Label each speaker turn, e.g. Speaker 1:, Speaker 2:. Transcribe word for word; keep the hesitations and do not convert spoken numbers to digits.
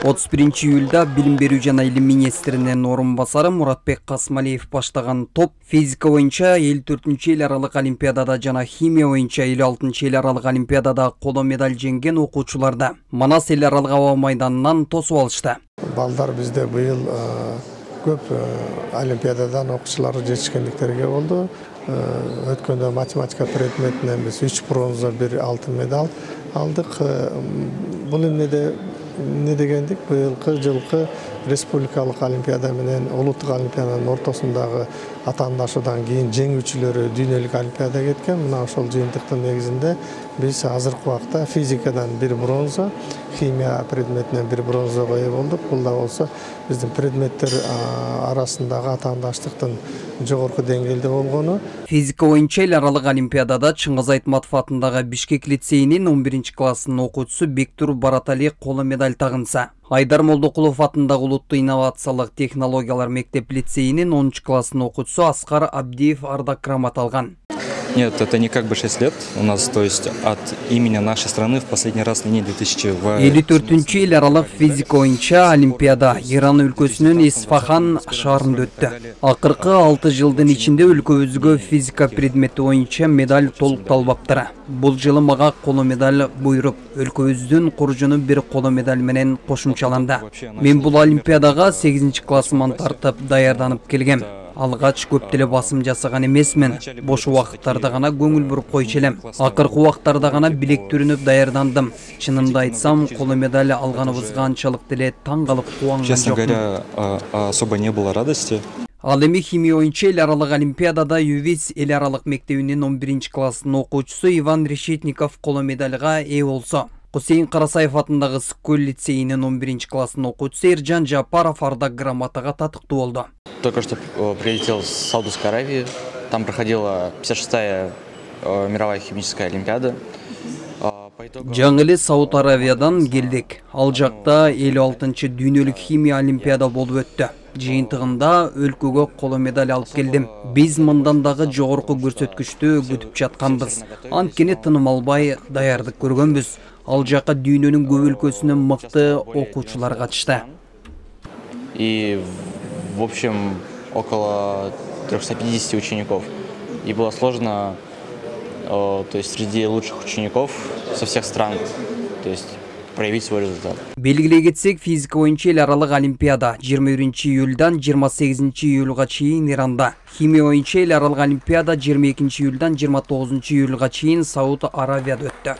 Speaker 1: отуз биринчи июлда билим берүү жана илим министринин орун басары Муратбек Касмалиев баштаган топ физика боюнча элүү төртүнчү эл аралык олимпиадада жана химия боюнча элүү алтынчы эл аралык олимпиадада коло медаль жеңген окуучуларды Манас эл аралык аба майданынан тосуп алышты.
Speaker 2: Балдар бизде быйыл көп олимпиададан окуучулар жетишкендиктерге болду. Өткөндө математика предметинен биз үч бронза, бир алтын медаль алдык. Бул эмнеде не дегендик, быйылкы жылкы республикалык олимпиада менен улуттук олимпиаданын ортосундагы атаандашуудан кийин жеңүүчүлөрү дүйнөлүк олимпиада кеткен. Мына ошол жыйынтыктын негизинде биз азыркы убакта физикадан бир бронза, химия предметинен бир бронзага ээ болдук. Бул да болсо биздин предметтер арасындагы атаандаштыктын жогорку деңгээлде болгону.
Speaker 1: Физика боюнча эл аралык олимпиадада Чыңгыз Айтматов атындагы Бишкек лицейинин он биринчи класснын окуучусу Бектур Баратали коло медаль тагынса, Айдар Молдокулов атындагы улуттук инновациялык технологиялар мектеп лицейинин онунчу класснын окуучусу Аскар Абдиев ардак грамот алган.
Speaker 3: Нет, это не как бы шесть лет у нас, то есть от имени нашей страны в последний раз на две тысячи
Speaker 1: элүү төртүнчү эл аралык физика боюнча олимпиада Иран өлкөсүнүн Исфахан шаарында өттү. Акыркы алты жылдын ичинде өлкөбүзгө физика предмети боюнча медаль толукталбаптыр. Бул жылы мага коло медаль буйруп, өлкөбүздүн куржуну бир коло медаль менен кошумчаланды. Мен бул олимпиадага сегизинчи классыман тартып даярданып келгем. Алгач көп деле басым жасаган эмесмин. Бош убакыттарда гана көңүл буруп койчу элем. Акыркы убактарда гана билектүрүнүп даярдандым. Чынымды айтсам, коло медаль алганыбызга анчалык деле таң калып кубанган жокмун.
Speaker 3: Честно говоря, особо не было радости.
Speaker 1: Ал эми химия боюнча эл аралык олимпиадада ЮВИС эл аралык мектебинин он биринчи класснын окуучусу Иван Решетников коло медальга ээ болсо, Кусейин Карасаев атындагы Скөл лицейинин он биринчи класснын окуучусу Эржан Жапаров ардак грамотага татыктуу болду.
Speaker 4: Только что прилетел с Саудовской Аравии. Там проходила пятьдесят шестая мировая химическая олимпиада.
Speaker 1: Жаңы эле Сауд Аравиядан келдик. Ал жакта элүү алтынчы дүйнөлүк химия олимпиада болуп өттү. Жыйынтыгында өлкөгө коло медаль алып келдим. Биз мындан дагы жогорку көрсөткүчтү күтүп жатканбыз. Анткени тыным албай даярдык көргөнбүз. Ал жака дүйнөнүн көп өлкөсүнөн мыкты окуучулар катышты.
Speaker 4: И в общем около трёхсот пятидесяти учеников. И было сложно, то есть среди лучших учеников со всех стран, то есть проявить свой результат.
Speaker 1: Белгилей кетсек, физика боюнча эл аралык олимпиада жыйырма биринчи июлдан жыйырма сегизинчи июлга чейин Иранда, химия боюнча эл аралык олимпиада жыйырма экинчи июлдан жыйырма тогузунчу июлга чейин Сауд Аравияда өттү.